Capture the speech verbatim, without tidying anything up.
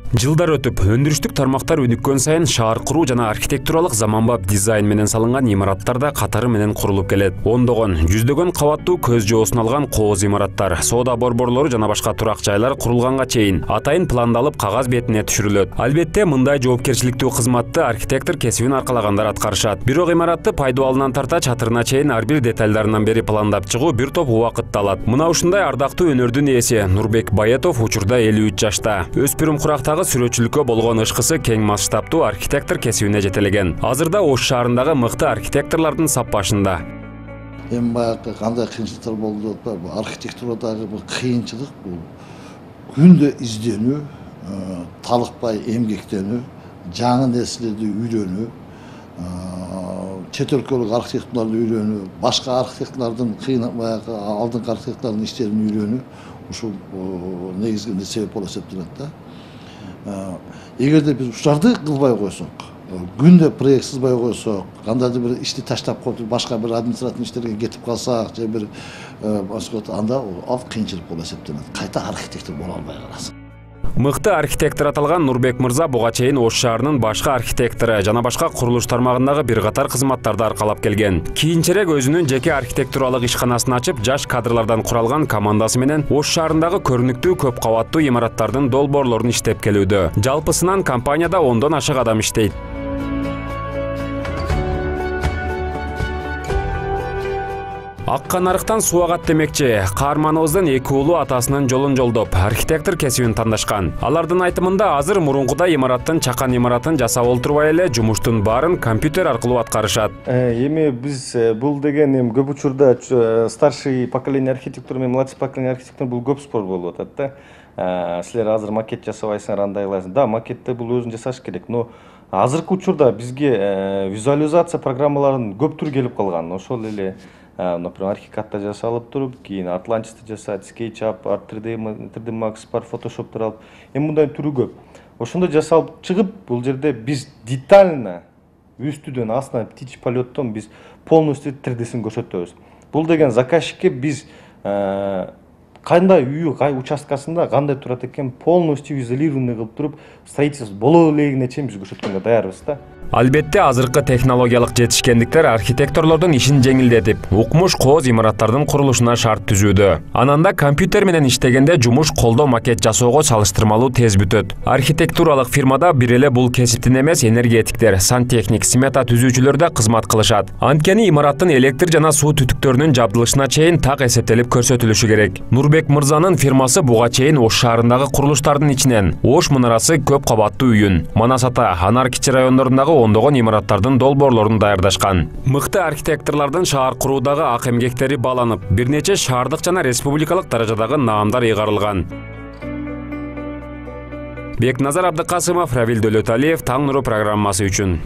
Жылдар өтүп, өндүрүштүк тармактар өнүккөн сайын шаар куруу жана архитектуралык заманбап дизайн менен салынган имараттар да катары менен курулуп келет. Ондогон, жүздөгөн кабаттуу көз жоосун алган кооз имараттар, соода борборлору жана башка турак жайлар курулганга чейин атайын пландалып кагаз бетине түшүрүлөт. Албетте, мындай жоопкерчиликтүү кызматты архитектор кесибин аркалагандар аткарышат. Бирок имаратты пайдалануудан тарта чатырына чейин ар бир детальдарынан бери пландап чыгуу бир топ убакытты алат. Мына ушундай ардактуу өнөрдүн ээси Нурбек Баятов учурда элүү үч жашта. Өспүрүм курактагы сүрөтчүлүккө болгон ышкысы кең масштабтуу архитектор кесибине жетелеген. Азырда Ош шаарындагы мыкты архитекторлордун саппашында. Эми баягы кандай кыйынчылыктар болду деп атпайбы? Архитектурадагы бул кыйынчылык бул күндө изденүү, талыкпай эмгектенүү, жаңы нерселерди үйрөнүү, чет өлкөлүк архитекторлорду үйрөнүү, башка архитекторлордун кыйын баягы алдыңкы архитекторлордун иштерин үйрөнүү ушул негизги себеп болуп эсептелет да. Эгерде биз ушуларды кылбай койсок, күндө проект сызбай койсок, кандайдыр бир ишти таштап коюп башка бир административдик иштерге кетип калсак, же бир анда ал кыйынчылык болуп эсептелет. Кайта архитектор боло албай каласың. Мыкты архитектор аталган Нурбек мырза буга чейин Ош шаарынын башка архитектору жана башка курулуш тармагындагы бир катар кызматтарды аркалап келген. Кийинчерээк өзүнүн жеке архитектуралык ишканасын ачып, жаш кадрлардан куралган командасы менен Ош шаарындагы көрүнүктүү көп кабаттуу имараттардын долбоорлорун иштеп келүүдө. Жалпысынан компанияда ондон ашык адам иштейт. Акка нарыктан суу агат демекчи, каарманыбыздын эки уулу атасынын жолун жолдоп, архитектор кесибин тандашкан. Алардын айтымында азыр мурункуда имараттын чакан имаратын жасап олтурбай эле жумуштун баарын компьютер аркылуу аткарышат. Эми биз бул деген эми көп учурда старший поколение архитектура менен младший поколение архитектура бул көп спор болуп атат да. Силер азыр макет жасабайсыңар, андай кыласың. Да, макетти бул өзүн жасаш керек, но азыркы учурда бизге визуализация программаларынын көп түрү келип калган. Ошол эле например, архикатта жасалып туруп, кийин Atlantis'te жасайт, SketchUp, Art три дэ Max бар, Photoshop'тар алып, эми мындай түрү көп. Ошондо жасалып чыгып, бул жерде биз детально үстүдөн астынан птичий полеттон биз полностью три дэсин көрсөтөбүз. Бул деген заказчикке биз кандай үйү, кай участкасында кандай турат экен полностью изолированный кылып туруп, строительство боло элегине чейин биз көрсөткөнгө даярбыз да. Албетте, азыркы технологиялык жетишкендиктер архитекторлордун ишин жеңилдетип, укмуш кооз имараттардын курулушуна шарт түзүүдө. Ананда компьютер менен иштегенде жумуш колдо макет жасоого салыштырмалуу тез бүтөт. Архитектуралык фирмада бир эле бул кесиптин эмес энергетиктер, сантехник, смета түзүүчүлөр да кызмат кылышат. Анткени имараттын электр жана суу түтүктөрүнүн жабдылышына чейин так эсептелип көрсөтүлүшү керек. Нурбек мырзанын фирмасы буга чейин Ош шаарындагы курулуштардын ичинен Ош мунарасы көп кабаттуу үйүн, Манас ата, Анар кичи райондорундагы ондогон имараттардын долбоорлорун даярдашкан. Мыкты архитекторлордун шаар куруудагы ак эмгектери бааланып, бир нече шаардык жана республикалык даражадагы наамдар ыйгарылган. Бекназар Абдыкасымов, Равил Дөлөталиев, Таң нуру программасы үчүн.